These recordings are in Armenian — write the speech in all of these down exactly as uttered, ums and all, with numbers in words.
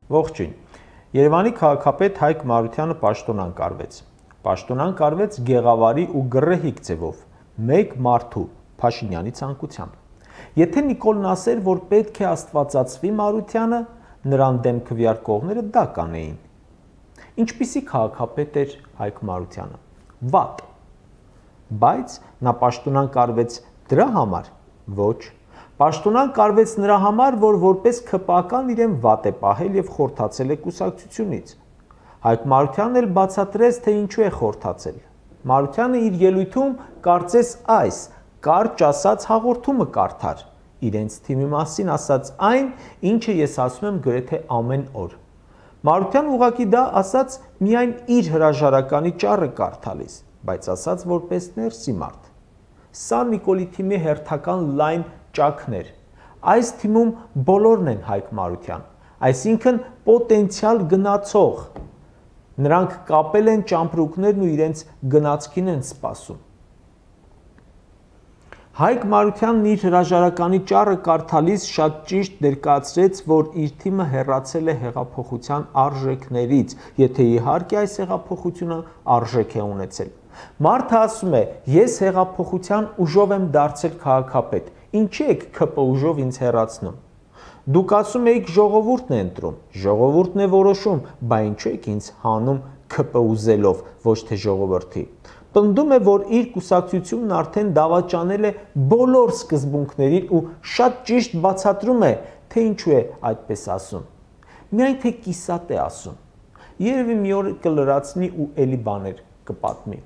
Ողջույն։ Երևանի քաղաքապետ Հայկ Մարությանը պաշտոնան կարվեց։ Պաշտոնան կարվեց գեղավարի ու գռեհիկ ձևով, մեկ մարդու Փաշինյանի ցանկությամբ։ Եթե Նիկոլն ասեր, որ պետք է աստվածացվի Մարությանը, նրան դեմ քվեարկողները դա կանեին։ Ինչպիսի քաղաքապետ էր Հայկ Մարությանը։ Վատ։ Բայց նա պաշտոնան կարվեց դրա համար, ոչ։ Պաշտոնան կարվեց նրա համար, որ որպես ՔՊԱ-կան իրեն վատ է պահել եւ խորթացել է կուսակցությունից։ Հայկ Մարությանն էլ բացատրեց, թե ինչու է խորթացել։ Մարությանը իր ելույթում կարծես այս կարճ ասած հաղորդումը կարդար, իրենց թիմի մասին ասած այն, ինչը ես ասում եմ գրեթե ամեն օր։ Մարությանն ուղղակի դա ասած միայն իր հրաժարականի ճառը կարդալիս, բայց ասած որպես ներսի մարդ։ Սա Նիկոլի թիմի հերթական լայն ճաքներ։ Այս թիմում բոլորն են Հայկ Մարության, այսինքն պոտենցիալ գնացող։ Նրանք կապել են ճամպրուկներն ու իրենց գնացքին են սպասում։ Հայկ Մարությանն իր հրաժարականի ճառը կարդալիս շատ ճիշտ ներկայացրեց, որ իր թիմը հեռացել է հեղափոխության արժեքներից, եթե իհարկե այս հեղափոխությունը արժեք է ունեցել։ Մարդը ասում է, ես հեղափոխության ուժով եմ դարձել քաղաքապետ, ինչի եք ՔՊ ուժով ինձ հեռացնում։ Դուք ասում եք ժողովուրդն է ընտրում, ժողովուրդն է որոշում, բա ինչու եք ինձ հանում ՔՊ ուզելով, ոչ թե ժողովրդի։ Պնդում է, որ իր կուսակցությունն արդեն դավաճանել է բոլոր սկզբունքներին ու շատ ճիշտ բացատրում է, թե ինչու է այդպես ասում։ Միայն թե կիսատ է ասում։ Երևի մի օր կլրացնի ու էլի բաներ կպատմի։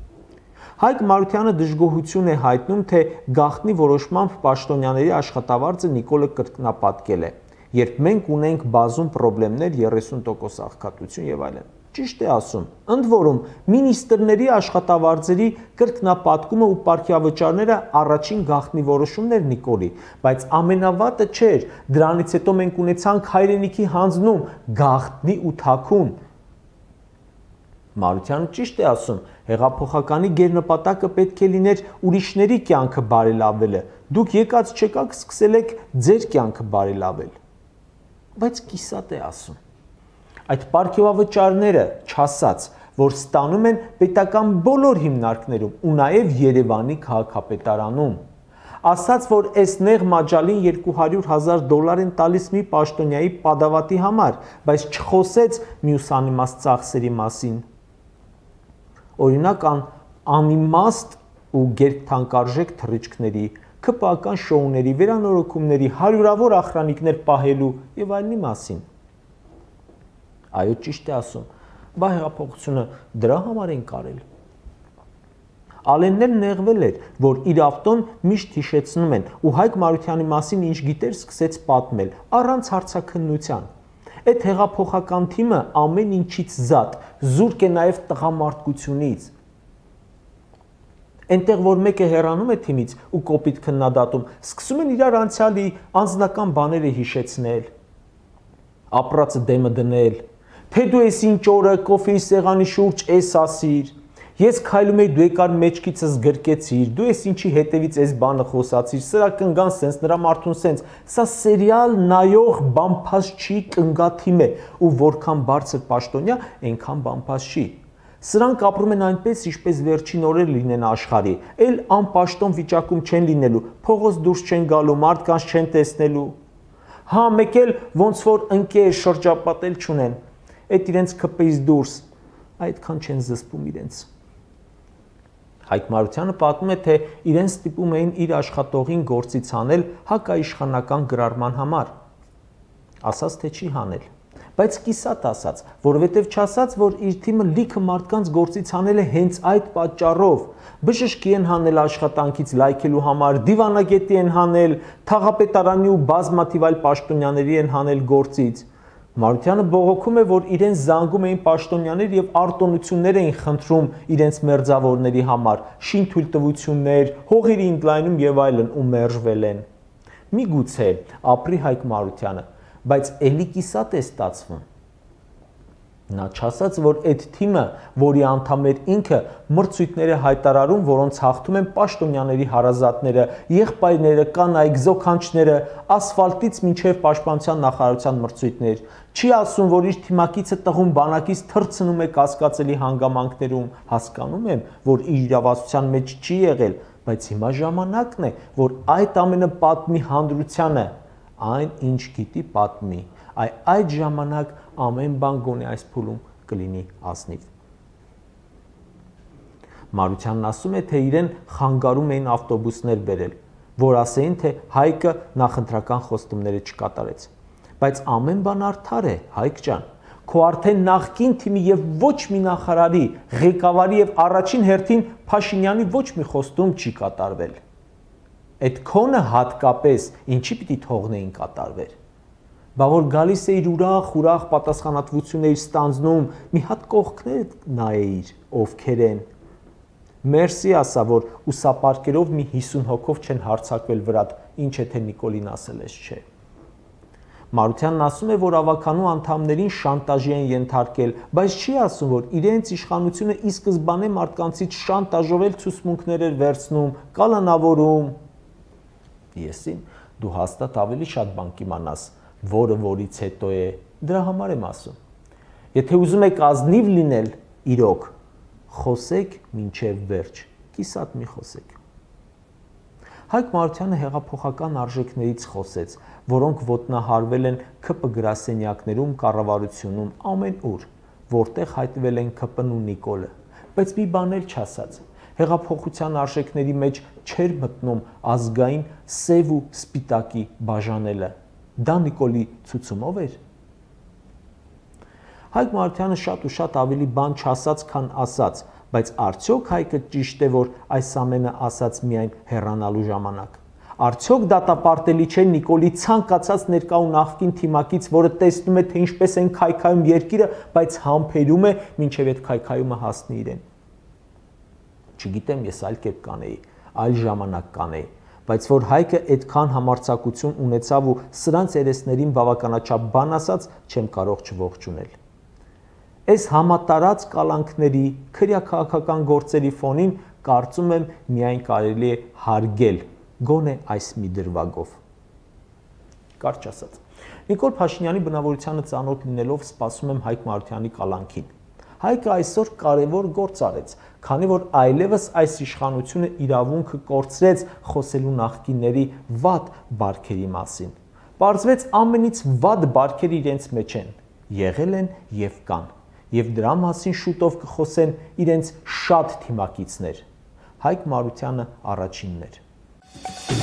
Հայկ Մարությանը դժգոհություն է հայտնում, թե գաղտնի որոշմամբ պաշտոնյաների աշխատավարձը Նիկոլը կրկնապատկել է, երբ մենք ունենք բազում պրոբլեմներ, երեսուն տոկոս աղքատություն եւ այլն։ Ճիշտ է ասում։ Ընդ որում, մինիստրների աշխատավարձերի կրկնապատկումը ու պարգևավճարները առաջին գաղտնի որոշումներ Նիկոլի, բայց ամենավատը չէր, դրանից հետո մենք ունեցանք հայրենիքի հանձնում, գաղտնի ու թաքուն։ Մարությանը ճիշտ է ասում, հեղափոխականի գերնպատակը պետք է լիներ ուրիշների կյանքը բարելավելը, դուք եկած չեկաք սկսել եք ձեր կյանքը բարելավել։ Բայց կիսատ է ասում։ Այդ պարգևավճարները չասած, որ ստանում են պետական բոլոր հիմնարկներում ու նաև Երևանի քաղաքապետարանում։ Ասաց, որ այս նեղ մաջալին երկու հարյուր հազար դոլար են տալիս մի պաշտոնյայի պատավատի համար, բայց չխոսեց մյուս անիմաստ ծախսերի մասին։ Օրինակ անիմաստ ու գերթանկարժեք թռիչքների, ՔՊԱ-կան շոուների, վերանորոգումների, հարյուրավոր ախրանիկներ պահելու եւ այլնի մասին։ Այո, ճիշտ է ասում, բա հեղափոխությունը դրա համար են կարել։ Ալենն նեղվել էր, որ իր ավտոն միշտ հիշեցնում են ու Հայկ Մարությանի մասին ինչ գիտեր սկսեց պատմել, առանց հարցաքննության։ Այդ հեղափոխական թիմը ամեն ինչից զատ, զուրկ է նաև տղամարդկությունից։ Այնտեղ, որ մեկը հեռանում է թիմից ու կոպիտ քննադատում, սկսում են իրար անցյալի անձնական բաները հիշեցնել, ապրածը դեմը դնել, թե դու ես ինչ օրը կոֆեի սեղանի շուրջ էս ասիր, ես քայլում էի դու եկար մեջքիցս գրկեցիր, դու ես ինչի հետևից այս բանը խոսացիր, սրա կնգան սենց, նրա մարդուն սենց, սա սերիալ նայող բամփաս չի կնգաթիմ է ու որքան բարձր պաշտոնյա, այնքան բամփաս չի։ Սրանք ապրում են այնպես, ինչպես վերջին օրեր լինեն աշխարհի, էլ անպաշտոն վիճակում չեն լինելու, փողոց դուրս չեն գալու, մարդկանց չեն տեսնելու։ Հա, մեկ էլ ոնց որ ընկեր շրջապատել չունեն, այդ իրենց ՔՊ-ից դուրս, այդքան չեն զսպում իրենց։ Հայկ Մարությանը պատմում է, թե իրեն ստիպում էին իր աշխատողին գործից հանել հակաիշխանական գրառման համար։ Ասաց, թե չի հանել, բայց կիսատ ասաց, որովհետև չասաց, որ իր թիմը լիքը մարդկանց գործից հանել է հենց այդ պատճառով։ Բժշկի են հանել աշխատանքից լայքելու համար, դիվանագետի են հանել, թաղապետարանի ու բազմաթիվ այլ պաշտոնյաների են հանել գործից։ Մարությանը բողոքում է, որ իրեն զանգում էին պաշտոնյաներ եւ արտոնություններ էին խնդրում իրենց մերձավորների համար, շինթույլտվություններ, հողերի ընդլայնում եւ այլն ու մերժվել են։ Միգուցե ապրի Հայկ Մարությանը, բայց էլի կիսատ է ստացվում։ Նա չասաց, որ այդ թիմը, որի անդամ էր ինքը, մրցույթներ է հայտարարում, որոնց հաղթում են պաշտոնյաների հարազատները, եղբայրները, կանայք, զոքանչները, ասֆալտից մինչև պաշտպանության նախարարության մրցույթներ։ Չի ասում, որ իր թիմակիցը տղուն բանակից թռցնում է կասկածելի հանգամանքներում, հասկանում եմ, որ իր իրավասության մեջ չի եղել, բայց հիմա ժամանակն է, որ այդ ամենը պատմի հանրությանը, այն ինչ գիտի պատմի, այ այդ ժամանակ ամեն բան գոնե այս փուլում կլինի ազնիվ։ Մարությանն ասում է, թե իրեն խանգարում էին ավտոբուսներ բերել, որ ասեին, թե Հայկը նախընտրական խոստումները չկատարեց։ Բայց ամեն բան արդար է, Հայկ ջան, քո արդեն նախկին թիմի եւ ոչ մի նախարարի, ղեկավարի եւ առաջին հերթին Փաշինյանի ոչ մի խոստում չի կատարվել։ Այդ քոնը հատկապես ինչի պիտի թողնեին կատարվեր։ Բա որ գալիս է իր ուրախ-ուրախ պատասխանատվություններ ստանձնում, մի հատ կողքներ նայեիր, ովքեր են։ Մերսի ասա, որ ուսապարկերով մի հիսուն հոգով չեն հարձակվել վրատ, ինչ է թե Նիկոլին ասել ես, չէ։ Մարությանն ասում է, որ ավականու անդամներին շանտաժի են ենթարկել, բայց չի ասում, որ իրենց իշխանությունը ի սկզբանե մարդկանցից շանտաժովել ցուցմունքներ էր վերցնում, կալանավորում։ Եսին դու հաստատ ավելի շատ բան կիմանաս, որը որից հետո է, դրա համար եմ ասում։ Եթե ուզում եք ազնիվ լինել, իրոք, խոսեք մինչև վերջ, կիսատ մի խոսեք։ Հայկ Մարությանը հեղափոխական արժեքներից խոսեց, որոնք ոտնահարվել են ՔՊ գրասենյակներում, կառավարությունում, ամեն ուր, որտեղ հայտնվել են ՔՊ-ն ու Նիկոլը, բայց մի բան էլ չասաց։ Հեղափոխության արժեքների մեջ չէր մտնում ազգային սև ու սպիտակի բաժանելը։ Դա Նիկոլի ցուցումով էր։ Հայկ Մարությանը շատ ու շատ ավելի բան չասաց, քան ասաց, բայց արդյոք Հայկը ճիշտ է, որ այս ամենը ասաց միայն հեռանալու ժամանակ։ Արդյոք դատապարտելի չէ Նիկոլի ցանկացած ներկա ու նախկին թիմակից, որը տեսնում է, թե ինչպես են քայքայում երկիրը, բայց համբերում է, մինչև այդ քայքայումը հասնի իրեն։ Չգիտեմ, ես այլ կերպ կանեի, այլ ժամանակ կանեի, բայց որ Հայկը այդքան համարձակություն ունեցավ ու սրանց երեսներին բավականաչափ բան ասաց, չեմ կարող չողջունել։ Այս համատարած կալանքների, քրեաքաղաքական գործերի ֆոնին կարծում եմ միայն կարելի է հարգել, գոնե այս մի դրվագով։ Կարճ ասած, Նիկոլ Փաշինյանի բնավորությանը ծանոթ լինելով սպասում եմ Հայկ Մարությանի կալանքին։ Հայկը այսօր կարևոր գործ արեց, քանի որ այլևս այս իշխանությունը իրավունքը կորցրեց խոսելու նախկինների վատ բարքերի մասին։ Պարզվեց ամենից վատ բարքերը իրենց մեջ են, եղել են եւ կան, եւ դրա մասին շուտով կխոսեն իրենց շատ թիմակիցներ։ Հայկ Մարությանը առաջինն էր։